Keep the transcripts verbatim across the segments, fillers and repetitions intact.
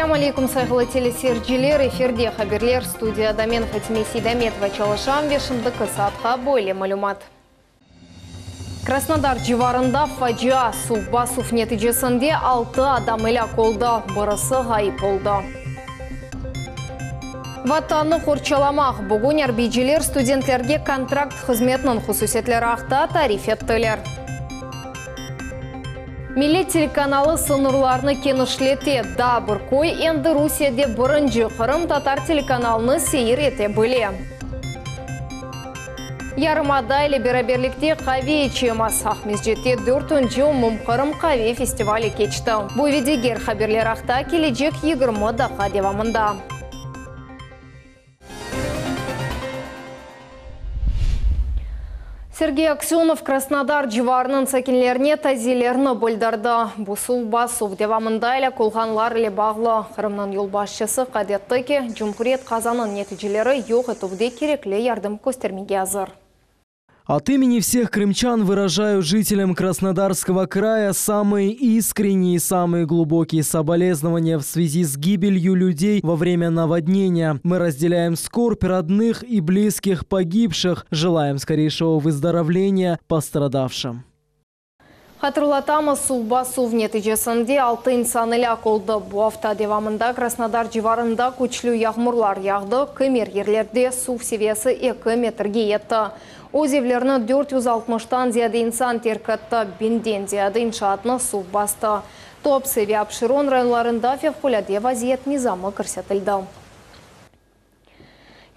Selâm aleyküm, sayğılı teleseyirciler. Efirde haberler, studiyada men, Fatime Seydametova, çalışam ve şimdiki saatqa böyle malümat. Krasnodar civarında facia, suv basuv neticesinde altı adam elâk oldı, birisi ğayıp oldı. Vatannı qorçalamaq. Bugün arbiyciler studentlerge kontrakt hızmetiniñ hususiyetleri aqta tarif ettiler. Millet telekanalı sıñırlarını kenişlete. Daa bir köy endi Rusiyede birinci qırımtatar telekanalını seyir ete bile. Yarımada ile beraberlikte qave içemiz. Aqmescitte dörtünci Umumqırım qave festivali keçti. Bu ve diger haberler aqta kelecek yigirmi daqqa devamında. Sergey Aksenov Krasnodar civarınıñ sakinlerine taziyelerini bildirdi. Bu suv basuv devamında elâk olğanlar ile bağlı. Qırımnıñ yolbaşçısı qayd etti ki, cumhuriyet qazanıñ neticeleri yoq etüvde kerekli yardım köstermege azır. От имени всех крымчан выражаю жителям Краснодарского края самые искренние и самые глубокие соболезнования в связи с гибелью людей во время наводнения. Мы разделяем скорбь родных и близких погибших, желаем скорейшего выздоровления пострадавшим. Hatırlatamız, suv basuv neticesinde altı insan elâk oldı. Bu afta devamında Krasnodar civarında küçlü yağmurlar yağdı. Kimer yerlerde suv seviyesi eki metrge yetti. Öz evlerini dört yüz altmıştan ziyade insan terk etti. Biñden ziyade inşaatnı suv bastı. Tuapse ve Apşeron rayonlarında fevqulâde vaziyet nizamı kirsetildi.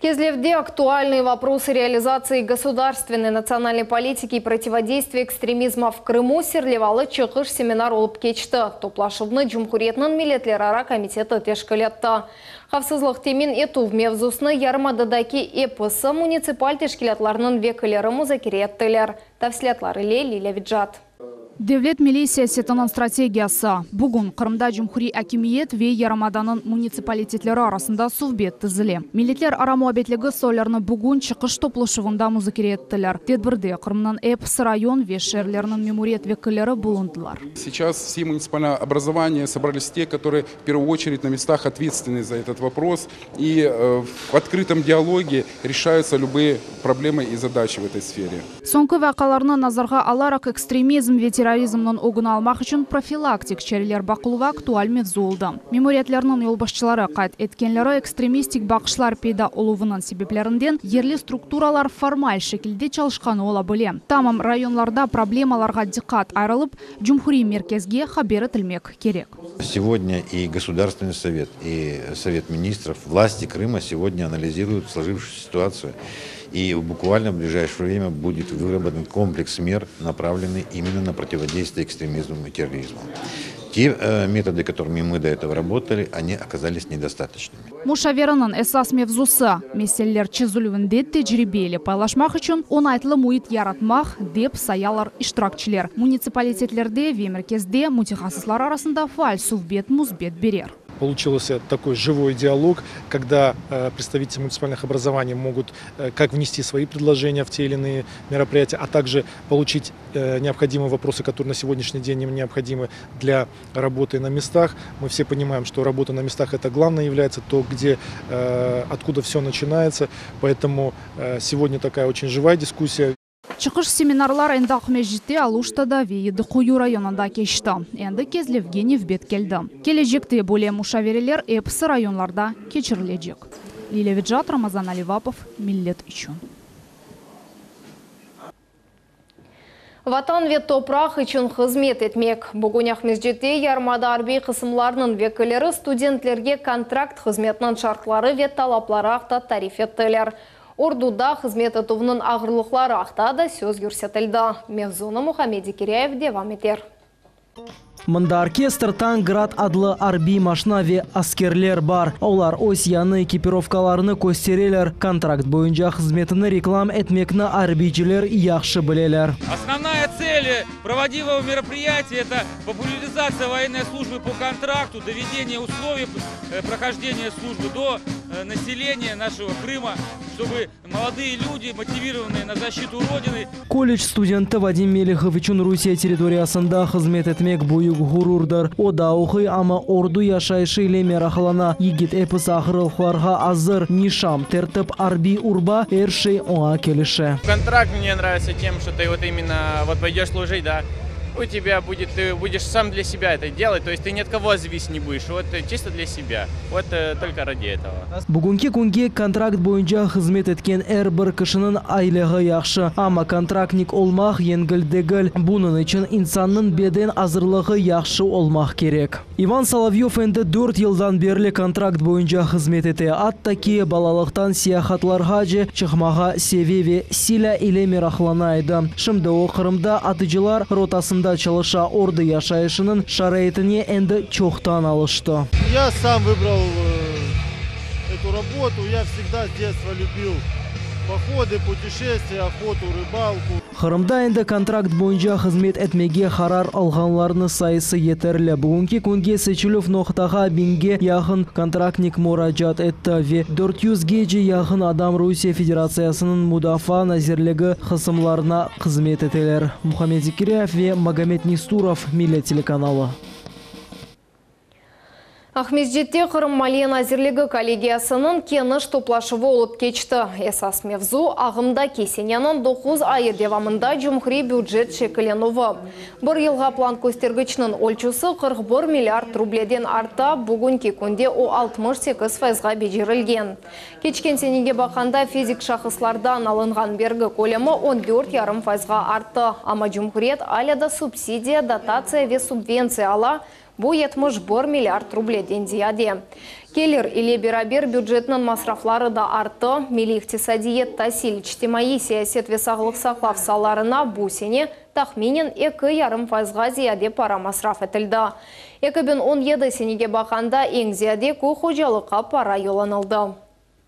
Kezlevde актуальные вопросы реализации государственной национальной политики и противодействия экстремизма в Крыму serlevalı çıqış seminar olıp keçti. Toplaşuvnı Cumhuriyetniñ milletlerara komiteti teşkil etti. Havfsızlıq temin etüv mevzusını yarımadadaki episi munitsipal teşkilâtlarınıñ vekilleri muzakere ettiler. Tafsilâtlar ile Lilâ Vicat. Devlet milliy siyasetiniñ strategiyası. Bugün Qırımda cumhuriy akimiyet ve yarımadanıñ munitsipalitetleri arasında suhbet tizile. Milletlerara muabbetligi suallerini bugün çıqış toplaşuvında muzakere ettiler. Tedbirde Qırımnıñ episi rayon ve şeerleriniñ memuriyet vekilleri bulundılar. Сейчас все муниципальные образования собрались те, которые в первую очередь на местах ответственны за этот вопрос. И, э, в открытом диалоге решаются любые проблемы и задачи в этой сфере. Soñki vaqialarnı nazarğa alaraq ekstremizm ve terrorizmniñ ögüni almaq içün profilaktik çareler baqıluvı aktual mevzu oldı. Memuriyetlerniñ yolbaşçıları qayd etkenleri ekstremistik baqışlar peyda oluvınıñ sebeplerinden yerli strukturalar formal şekilde çalışqanı ola bile. Tamam rayonlarda problemalarğa diqqat ayırılıp, cumhuriy merkezge haber etilmek kerek. Сегодня и Государственный совет, и Совет министров, власти Крыма сегодня анализируют сложившуюся ситуацию. И буквально в ближайшее время будет выработан комплекс мер, направленный именно на противодействие экстремизму и терроризму. Те, э, методы, которыми мы до этого работали, они оказались недостаточными. Muşavereniñ esas mevzusı meseleler çezilüvinde tecribe ile paylaşmaq içün oñaytlı müit yaratmaq, dep sayalar iştirakçiler. Munitsipalitetlerde ve merkezde mütehassıslar arasında faal suhbet müsbet berer. Получился такой живой диалог, когда, э, представители муниципальных образований могут, э, как внести свои предложения в те или иные мероприятия, а также получить, э, необходимые вопросы, которые на сегодняшний день им необходимы для работы на местах. Мы все понимаем, что работа на местах это главное является, то, где, э, откуда все начинается. Поэтому, э, сегодня такая очень живая дискуссия. Çıqış seminarlar endi Aqmescitte, Aluştada ve Yedi Quyu rayonında keçti. Endi Kezlevge nevbet keldi. Kelecekte böyle muşavereler episi rayonlarda keçirilecek. Lilâ Vicat, Ramazan Alivapov, Millet içün. Vatan ve topraq içün hızmet etmek. Bugün Aqmescitte yarımada arbiy qısımlarınıñ vekilleri studentlerge kontrakt hızmetiniñ şartları ve talapları aqta tarif ettiler. Orduda hızmet etüvniñ ağırlıqları aqta da söz yürsetildi. Mevzunı Muhammed Zekiryayev devam eter. Mında orkestr, tank, Grad adlı arbiy maşina ve askerler bar. Olar öz yañı ekipirovkalarını köstereler. Kontrakt boyunca hızmetini reklam etmekni arbiyciler yahşı bileler. Основная цель проводимого мероприятия – это популяризация военной службы по контракту, доведение условий, э, прохождения службы до, э, населения нашего Крыма, чтобы молодые люди, мотивированные на защиту Родины. Колледж studenti Vadim Melihov içün Rusiye territoriyasında hızmet etmek büyük ğururdır. O da oquy, amma ordu yaşayışı ile meraqlana. Yigit episi ağırlıqlarğa azır. Nişan, tertip, arbiy urba, er şey oña kelişe. Контракт мне нравится тем, что ты вот именно вот пойдешь служить, да, у тебя будет, ты будешь сам для себя это делать, то есть ты ни от кого зависеть не будешь, вот э, чисто для себя, вот э, только ради этого. Bugünki künge kontrakt boyunca hızmet etken er bir kişiniñ aylığı yahşı. Amma kontraktnik olmaq yengil degil. Bunıñ içün insannıñ beden azırlığı yahşı olmaq kerek. İvan Solovyov endi dört yıldan berli kontrakt boyunca hızmet ete. Atta ki balalıqtan seyahatlarğa çıqmağa seve ve silâ ile meraqlana edi. Şimdi o Qırımda atıcılar rotasında çalışa. Ordu yaşayışınıñ şaraitine endi çoqtan alıştı. Я сам выбрал э, эту работу. Я всегда с детства любил походы, путешествия, охоту, рыбалку. Qırımda endi kontrakt boyunca hızmet etmege qarar alğanlarnıñ sayısı yeterli. Bugünki künge seçilüv noqtağa biñge yaqın kontraktnik muracaat etti ve dört yüzge yaqın adam Rusiye Federatsiyasınıñ Mudafaa nazirligi qısımlarına hızmet eteler. Muhammed Zikriyev ve Magomed Nisturov, Millet telekanalı. Aqmescitte Qırım Maliye Nazirligi kollegiyasınıñ keniş toplaşuvı olıp keçti. Esas mevzu ağımdaki seneniñ doquz ayı devamında cumhuriy bücet şekillenüvi. Bir yılğa plan köstergiçniñ ölçüsi qırq bir milliard rubleden arta, bugünki künde o altmış sekiz fayızğa becerilgen. Keçken senege baqqanda fizik şahıslardan alınğan bergi kölemi on dört yarım fayızğa arttı. Amma cumhuriyet alâ da subsidiya, dotatsiya ve subventsiya ala, bu yetmiş bir milliard rubleden ziyade. Kelir ile beraber bücetniñ masrafları da arttı. Milliy iqtisadiyat, tasil, içtimaiy siyaset ve sağlıq saqlav saalarına bu sene tahminen eki yarım fayızğa ziyade para masraf etildi. eki biñ on yedi senege baqqanda eñ ziyade köy hocalıqqa para yollanıldı.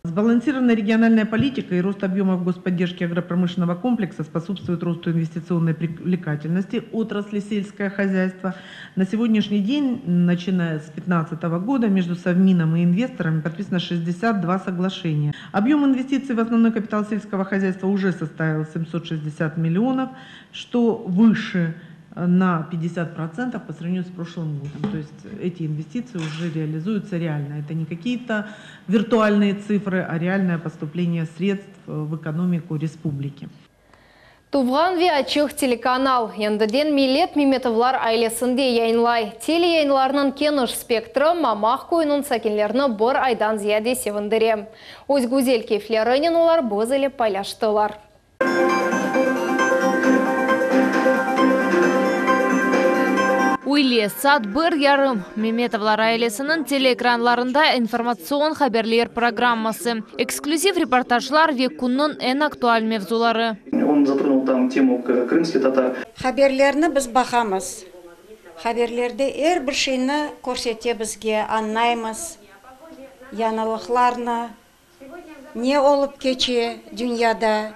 Сбалансированная региональная политика и рост объемов господдержки агропромышленного комплекса способствуют росту инвестиционной привлекательности отрасли сельское хозяйство. На сегодняшний день, начиная с две тысячи пятнадцатого года, между Совмином и инвесторами подписано шестьдесят два соглашения. Объем инвестиций в основной капитал сельского хозяйства уже составил семьсот шестьдесят миллионов, что выше на пятьдесят процентов по сравнению с прошлым годом. То есть эти инвестиции уже реализуются реально. Это не какие-то виртуальные цифры, а реальное поступление средств в экономику республики. Tuvğan ve açıq telekanal endiden Millet Memetovlar ailesinde yayınlay. Teleyayınlarınıñ keniş spektri Mamaq köyüniñ sakinlerini bir aydan ziyade sevindire. Öz güzel keyflerinen olar biz ile paylaştılar. Üyle saat bir yarım Memetovlar ailesiniñ teleekranlarında informatsion haberler programması, eksklüziv reportajlar ve künniñ eñ aktual mevzuları. Он затронул там тему крымских татар. Haberlerni biz baqamız. Haberlerde er bir şeyni körsete bizge, añlaymız. Yañılıqlarnı, ne olıp keçe dünyada,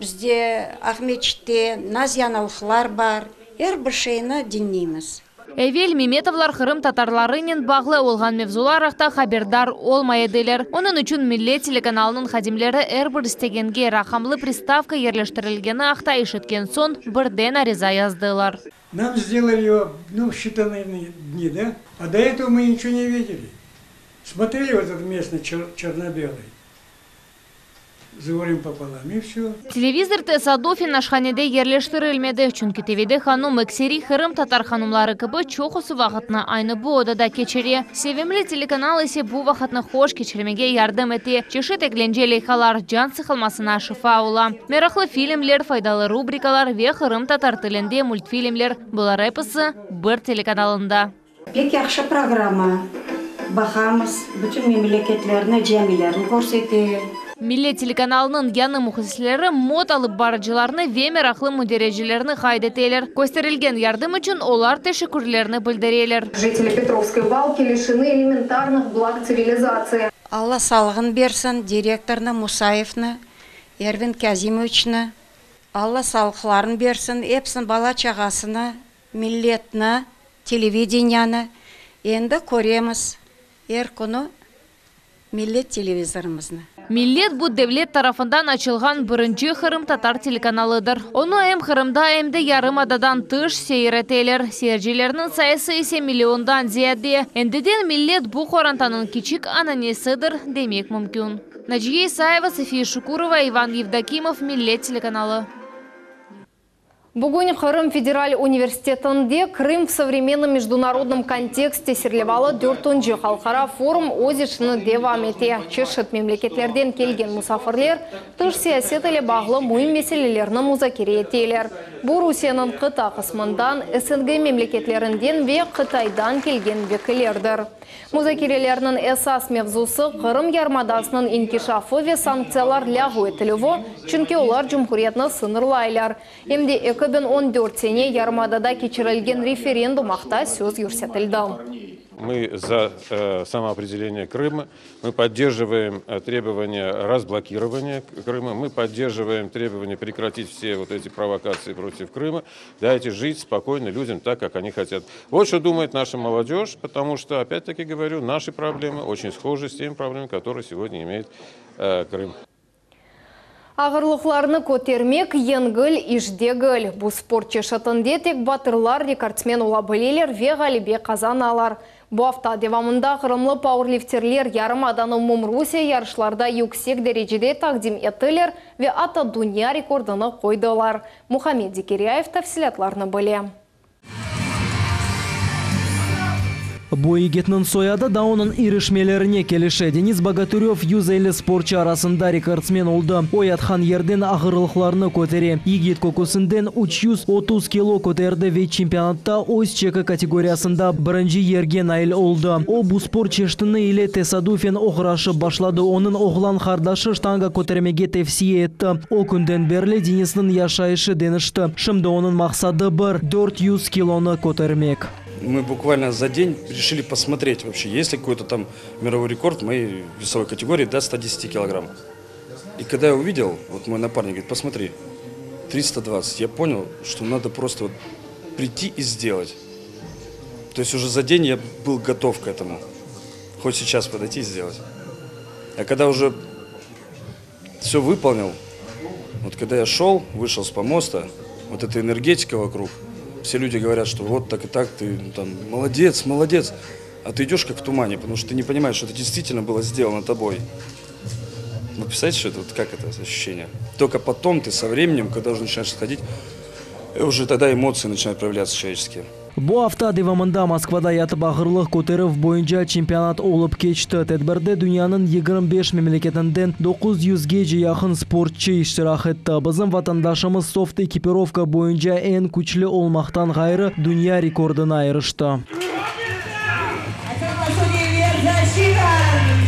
bizde Aqmescitte nasıl yañılıqlar bar, er bir şeyni diñleymiz. Evel Memetovlar Qırım tatarlarınen bağlı olğan mevzular aqta haberdar olmay ediler. Onıñ içün Millet telekanalınıñ hadimleri er bir istegenge raqamlı pristavka yerleştirilgeni aqta eşitken soñ birden ariza yazdılar. Нам сделали его, ну, в считанные дни, да? А до этого мы ничего не видели. Смотрели вот этот местный черно-белый с горем пополам, и все. Televizor tesadufen aşhanede yerleştirilmedi. Çünki Tevide hanum ekseri Qırım tatar hanumları kibi çoqusı vaqıtnı aynı bu odada keçire. Sevimli telekanal ise bu vaqıtnı hoş keçirmege yardım ete. Çeşit eglence leyhalar can sıqılmasına şifa ola. Meraqlı filmler, faydalı rubrikalar ve Qırım tatar tilinde multfilmler. Bular episi bir telekanalında. Pek yahşı programma. Baqamız, bütün memleketlerni, camilerni körsete. Millet telekanalınıñ yañı mühlisleri mot alıp barıcılarnı ve meraqlı mündericelerini qayd eteler. Kösterilgen yardım içün olar teşekkürlerini bildireler. Жители Петровской Балки лишены элементарных благ цивилизации. Alla sağlığın bersin direktornı Musayevni, Ervin Kazimoviçni. Alla sağlıqların bersin, episiniñ bala çağasını, milletni, televideniyanı. Endi köremiz er künü. Millet televizorımıznı. Millet bu devlet tarafından açılğan birinci qırımtatar telekanalıdır. Onı em Qırımda, em de yarımadadan tış seyir eteler. Seyircilerniñ sayısı ise milliondan ziyade. Endiden Millet bu qorantanıñ kiçik ananesidir demek mümkün. Naciye Isayeva, София Шукурова, Иван Евдокимов, Millet telekanalı. Bugün Qırım Federal Universitetinde «Крым в современном международном контексте» serlevalı dörtünci halqara forum öz işini devam ete. Çeşit memleketlerden kelgen musafirler tış siyaset ile bağlı müim meselelerni muzakere eteler. Bu Rusiyeniñ qıta qısmından, S N G memleketlerinden ve Qıtaydan kelgen vekillerdir. Muzakerelerniñ esas mevzusı Qırım yarımadasınıñ inkişafı ve sanktsiyalar lâğu etilüvi, çünki olar cumhuriyetni sıñırlaylar. Em de eki biñ on dört sene yarımadada keçirilgen referendum aqta söz yürsetildi. Мы за э, самоопределение Крыма, мы поддерживаем э, требования разблокирования Крыма, мы поддерживаем требования прекратить все вот эти провокации против Крыма. Дайте жить спокойно людям так, как они хотят. Вот что думает наша молодежь, потому что, опять-таки говорю, наши проблемы очень схожи с теми проблемами, которые сегодня имеет э, Крым. Ağırlıqlarnı kötermek yengil iş degil. Bu sport çeşitinde tek batırlar rekordsmen ola bileler ve ğalebe qazanalar. Bu afta devamında qırımlı pauerlifterler yarımadanı umumrusiye yarışlarda yüksek derecede taqdim ettiler ve atta dünya rekordını qoydılar. Muhammed Zekiryayev tafsilâtlarnı bile. Bu yigitniñ soyadı da onıñ irişmelerine kelişe. Denis Bogatırev yüz elli sportçı arasında rekordsmen oldı. O yatqan yerden ağırlıqlarnı kötere. Yigit köküsinden üç yüz otuz kilo köterdi ve çempionatta öz çeki kategoriyasında birinci yerge nail oldı. O bu sport çeşiti ile tesadufen oğraşıp başladı. Onıñ oğlan qardaşı ştanga kötermege tevsiye etti. O künden berli Denisniñ yaşayışı deñişti. Şimdi onıñ maqsadı bir – dört yüz kilonı kötermek. Мы буквально за день решили посмотреть вообще, есть ли какой-то там мировой рекорд в моей весовой категории до ста десяти килограмм. И когда я увидел, вот мой напарник говорит: «Посмотри, триста двадцать», я понял, что надо просто вот прийти и сделать. То есть уже за день я был готов к этому. Хоть сейчас подойти и сделать. А когда уже все выполнил, вот когда я шел, вышел с помоста, вот эта энергетика вокруг, все люди говорят, что вот так и так, ты, ну, там молодец, молодец. А ты идешь как в тумане, потому что ты не понимаешь, что это действительно было сделано тобой. Вы представляете, что это, вот как это ощущение? Только потом ты со временем, когда уже начинаешь сходить, уже тогда эмоции начинают проявляться человеческие. Bu afta devamında Moskvada yatıp ağırlıq köterüv boyunca çempionat olıp keçti. Tedbirde dünyanıñ yigirmi beş memleketinden doquz yüzge yaqın sportçı iştirak etti. Bizim vatandaşımız soft ekipirovka boyunca eñ küçlü olmaqtan ğayrı dünya rekordına irişti.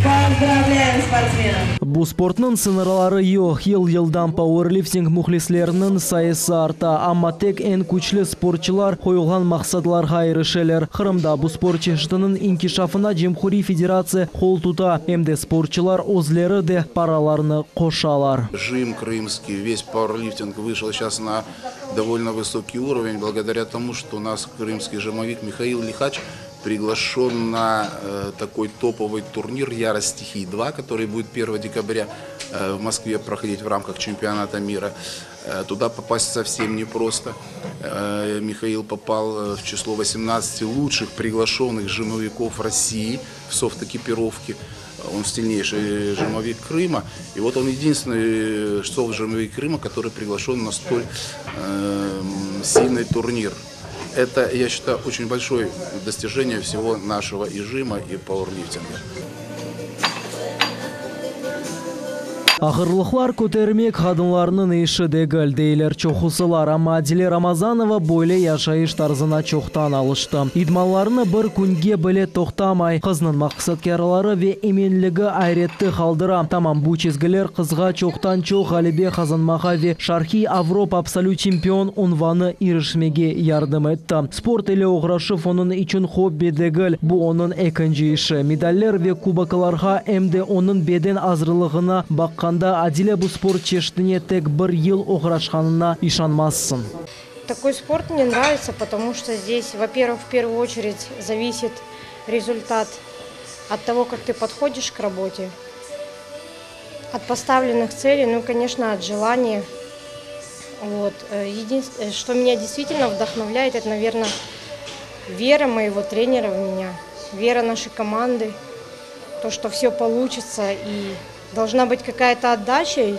Поздравляем спортсменов! Bu sportnıñ sıñırları yoq. Yıl yıldan pauerlifting mühlisleriniñ sayısı arta. Amma tek eñ küçlü sportçılar qoyulğan maqsadlarğa irişeler. Qırımda bu sport çeşitiniñ inkişafına Cumhuriy Federatsiya qol tuta. Em de sportçılar özleri de paralarını qoşalar. Жим крымский, весь пауэрлифтинг вышел сейчас на довольно высокий уровень благодаря тому, что у нас крымский жимовик Михаил Лихач приглашен на э, такой топовый турнир «Ярость стихий два», который будет первого декабря э, в Москве проходить в рамках чемпионата мира. Э, туда попасть совсем непросто. Э, Михаил попал э, в число восемнадцати лучших приглашенных жимовиков России в софт-экипировке. Он сильнейший жимовик Крыма. И вот он единственный софт-жимовик Крыма, который приглашен на столь э, сильный турнир. Это, я считаю, очень большое достижение всего нашего и жима, и пауэрлифтинга. Ağırlıqlar kötermek qadınlarnıñ işi degil, deyler çoqusılar. Amma Adile Ramazanova böyle yaşayış tarzına çoqtan alıştı. İdmanlarını bir künge bile toqtamay. Qıznıñ maqsatkârlığı ve eminligi ayrette qaldıra. Tamam bu çizgiler qızğa çoqtan-çoq ğalebe qazanmağa ve Şarqiy Avropa absolüt çempion unvanına irişmege yardım etti. Sport ile oğraşuv onıñ içün hobbi degil, bu onıñ ekinci işi. Medaller ve kuboklarğa em de onıñ beden azırlığına baqqanda Adile bu sport çeşitine tek bir yıl oğraşqanına işanmazsıñ. Такой спорт мне нравится, потому что здесь, во-первых, в первую очередь зависит результат От того, как ты подходишь к работе, от поставленных целей, ну, конечно, от желания. Вот. Единственное, что меня действительно вдохновляет, это, наверное, вера моего тренера в меня, вера нашей команды, то, что все получится и должна быть какая-то отдача. И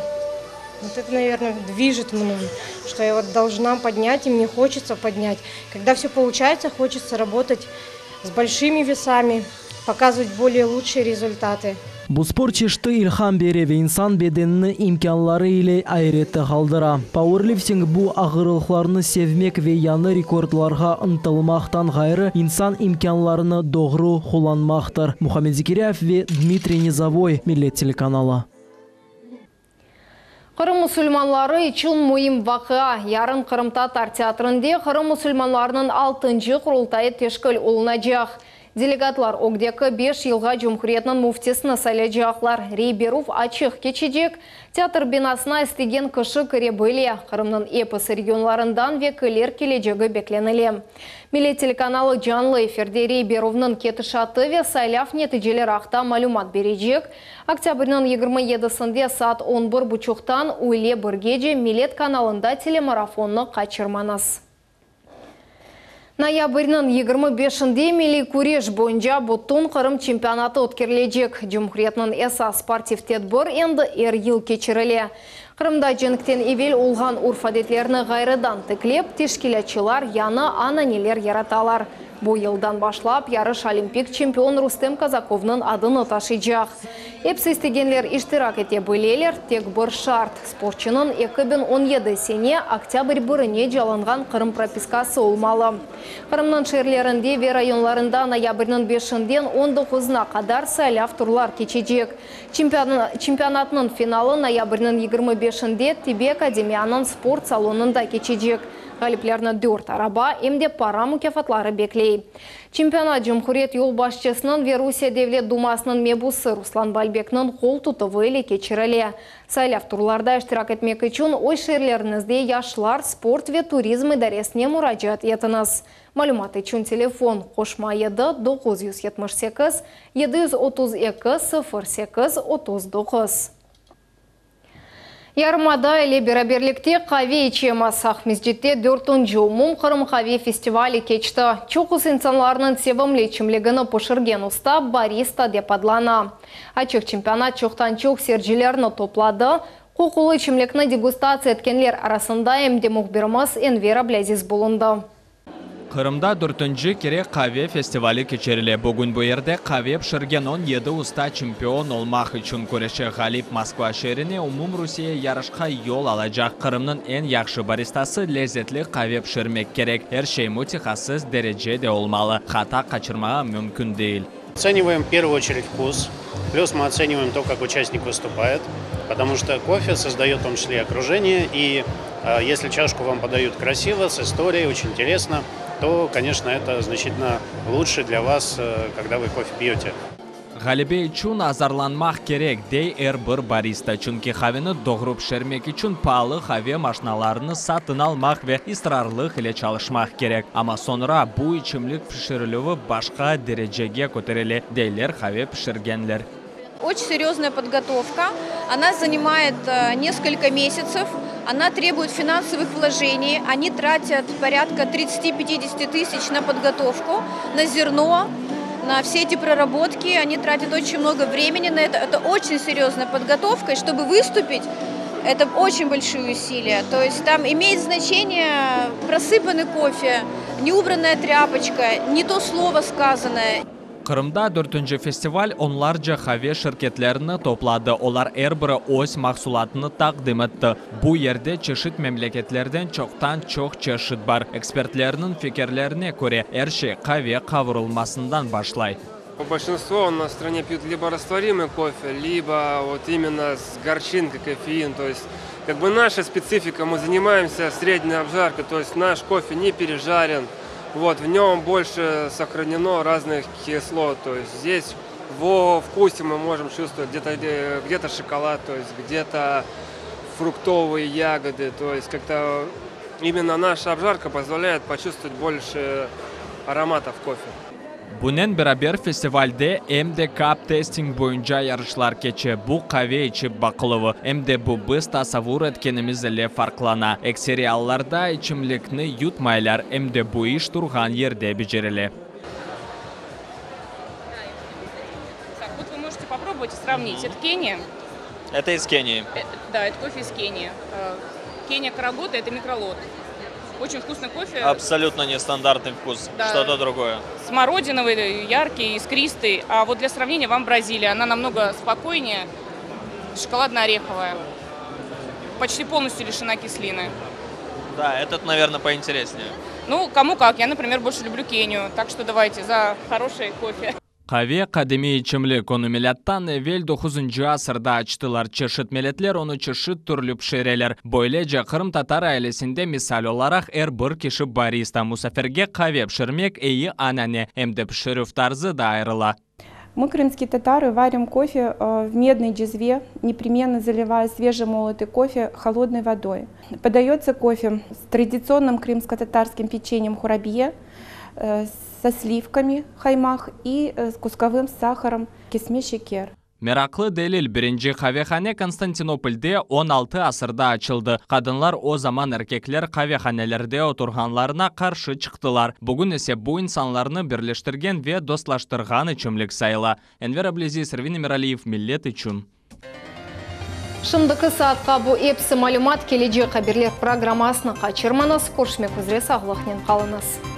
вот это, наверное, движет мной, что я вот должна поднять, и мне хочется поднять. Когда все получается, хочется работать с большими весами, показывать более лучшие результаты. Bu sport çeşiti ilham bere ve insan bedenini imkânları ile ayrette qaldıra. Pauerlifting bu ağırlıqlarnı sevmek ve yañı rekordlarğa ıntılmaqtan ğayrı insan imkânlarını doğru qullanmaqtır. Muhammed Zekiryayev ve Dmitriy Nizavoy, Millet telekanalı. Qırım musulmanları içün müim vaqia. Yarın Qırımtatar teatrinde Qırım musulmanlarınıñ altıncı Qurultayı teşkil olunacaq. Delegatlar ögdeki beş yılğa Cumhuriyetniñ müftisini saylaycaqlar. Rey berüv açıq keçecek. Teatr binasına istegen kişi kire bile. Qırımnıñ episi regionlarından vekiller kelecegi beklenile. Millet telekanalı canlı efirde rey berüvniñ ketişatı ve saylav neticeleri aqta malümat berecek. Oktâbrniñ yigirmi yedisinde saat on bir buçuqtan üyle birgece Millet kanalında telemarafonnı qaçırmañız. Noyabrniñ yigirmi beşinde milliy küreş boyunca bütün Qırım çempionatı ötkerilecek. Cumhuriyetniñ esas sportiv tedbir endi er yıl keçirile. Qırımda cenkten evel olğan urf-adetlerni ğayrıdan tiklep, teşkilâtçılar yañı ananeler yaratalar. Bu yıldan başlap yarış olimpik çempion Rustem Kazakovnıñ adını taşıycaq. Episi istegenler iştirak ete bileler, tek bir şart: sportçunıñ eki biñ on yedi sene oktâbr birinece alınğan Qırım propiskası olmalı. Qırımnıñ şeerlerinde ve rayonlarında noyabrniñ beşinden on doquzına qadar saylav turlar keçecek. Çempionatnıñ finalı noyabrniñ yigirmi beşinde Tibbiy akademiyanıñ sport salonında keçecek. Ğaliplerni dört araba em de para mukâfatları bekley. Çempionat Cumhuriyet yolbaşçısınıñ ve Rusiye Devlet Dumasınıñ mebusı Ruslan Balbekniñ qol tutuvı ile keçirile. Saylav turlarda iştirak etmek içün öz şeerleriñizde yaşlar, sport ve turizm idaresine muracaat etiñiz. Malümat içün telefon qoşma yedi doquz yüz yetmiş sekiz yedi yüz otuz eki sıfır sekiz otuz doquz. Yarımada ile beraberlikte qave içemiz. Aqmescitte dörtünci Umumqırım qave festivali keçti. Çoqusı insanlarnıñ sevimli içimligini pişirgen usta barista dep adlana. Açıq çempionat çoqtan-çoq seyircilerni topladı. Qoqulı içimlikni degustatsiya etkenler arasında em de mühbirimiz Enver Ablâziz bulundı. Qırımda dörtünci kere qave festivali keçirile. Bugün bu yerde qave pişirgen on yedi usta çempion olmaq içün küreşe. Ğalip Moskva şeerine umumrusiye yarışqa yol alacaq. Qırımnıñ eñ yahşı baristası lezetli qave pişirmek kerek. Er şey mütehassıs derecede olmalı. Hata qaçırmağa mümkün değil. Оцениваем в первую очередь вкус, плюс мы оцениваем то, как участник выступает, потому что кофе создает в том числе и окружение, и, э, если чашку вам подают красиво, с историей, очень интересно, то, конечно, это значительно лучше для вас, э, когда вы кофе пьете. Ğalebe içün azırlanmaq kerek, dey er bir barista. Çünki qaveni doğru pişirmek içün paalı qave maşinalarını satın almaq ve israrlıq ile çalışmaq kerek. Amma soñra bu içimlik pişirilüvi başqa derecege köterile, deyler qave pişirgenler. Очень серьезная подготовка. Она занимает, э, несколько месяцев. Она требует финансовых вложений. Они тратят порядка тридцати-пятидесяти тысяч на подготовку, на зерно, на все эти проработки. Они тратят очень много времени на это. Это очень серьезная подготовка. И чтобы выступить, это очень большие усилия. То есть там имеет значение просыпанный кофе, неубранная тряпочка, не то слово сказанное. Qırımda dörtünci festival onlarca qave şirketlerini topladı. Olar er biri öz mahsulatını taqdim etti. Bu yerde çeşit memleketlerden çoqtan çoq çeşit bar. Ekspertlerniñ fikirlerine köre, er şey qave qavurılmasından başlay. Большинство у нас в стране пьют либо растворимый кофе, либо вот именно с горчинкой кофеин. То есть как бы наша специфика, мы занимаемся средней обжаркой, то есть наш кофе не пережарен. Вот, в нем больше сохранено разных кислот, то есть здесь во вкусе мы можем чувствовать где-то, где, где-то шоколад, то есть где-то фруктовые ягоды, то есть как-то именно наша обжарка позволяет почувствовать больше ароматов кофе. Bunen beraber festivalde em de cup tasting boyunca yarışlar keçe. Bu qave içip baqıluvı. Em de bu biz tasavur etkenimiz ile farqlana. Ekseri allarda içimlikni yutmaylar, em de bu iş turğan yerde becerile. Так, вот вы можете попробовать и сравнить. Это Кения. Это из Кении. Э, да, это кофе из Кении. Э, Кения Карагота – это микролот. Очень вкусный кофе. Абсолютно нестандартный вкус, Да. что-то другое. Смородиновый, яркий, искристый. А вот для сравнения вам Бразилия. Она намного спокойнее, шоколадно-ореховая. Почти полностью лишена кислины. Да, этот, наверное, поинтереснее. Ну, кому как. Я, например, больше люблю Кению. Так что давайте за хороший кофе. Qave qadimiy içimlik, onı milâttan evel doquzıncı asırda açtılar. Çeşit milletler onı çeşit türlü pişireler. Böylece qırımtatar ailesinde misal olaraq er bir kişi barista. Musafirge qave pişirmek eyi anane, em de pişirüv tarzı da ayırıla. Мы, крымские татары, варим кофе э, в медной джезве, непременно заливая свежемолотый кофе холодной водой. Подается кофе с традиционным крымско-татарским печеньем хурабье, э, со сливками каймак и э, с кусковым сахаром kesme şeker. Meraqlı delil: birinci qavehane Konstantinopolde on altı asırda açıldı. Qadınlar o zaman erkekler qavehanelerde oturğanlarına qarşı çıqtılar. Bugün ise bu insanlarnı birleştirgen ve dostlaştırğan içimlik sayıla. Enver Ablezi, Servin Emiraliyev, Millet içün. Şimdiki saatqa bu episi malümat. Kelecek haberler programmasını qaçırmañız. Körüşmek üzere, sağlıqnen qalıñız.